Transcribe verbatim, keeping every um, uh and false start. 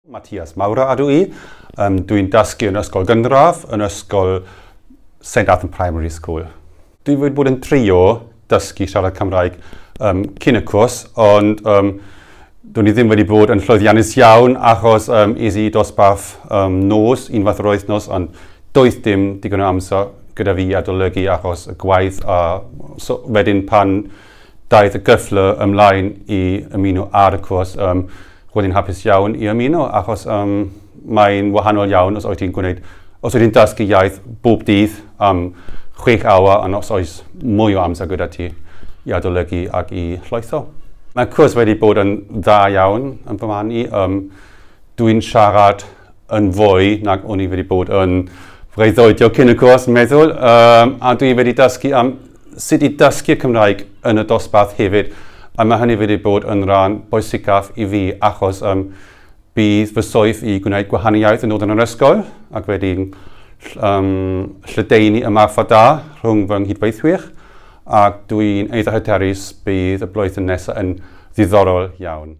Matthias Maurer ydw i. Um, Dwi'n dysgu yn ysgol gynradd, yn ysgol Saint Athan Primary School. Dwi wedi bod yn trio dysgu siarad Cymraeg um, cyn y cwrs, ond um, dwi'n i ddim wedi bod yn llwyddiannus iawn achos um, es i dosbarth um, nos, unwaith yr wythnos, ond doedd dim digon o amser gyda fi adolygu achos y gwaith, a so, wedyn pan daeth y gyfle ymlaen i ymuno ar y cwrs, um, roedd hi'n hapus iawn i ymuno achos um, mae'n wahanol iawn os wyt ti'n gwneud, os wyt ti'n dysgu iaith bob dydd am chwech awr, ond os oes mwy o amser gyda ti i adolygu ac i llwytho. Mae'r cwrs wedi bod yn dda iawn yn fy marn i. Um, dwi'n siarad yn fwy nag o'n i wedi bod yn breuddwydio cyn y cwrs, yn meddwl, um, a dwi wedi dysgu am sut i dysgu Cymraeg yn y dosbarth hefyd, a mae hynny wedi bod yn rhan bwysicaf i fi achos um, bydd fy swydd i gwneud gwahaniaeth yn dod yn yr ysgol ac wedi um, lledaenu ymarfer da rhwng fy nghydweithwyr, ac dwi'n eitha hyderus bydd y blwyddyn nesaf yn ddiddorol iawn.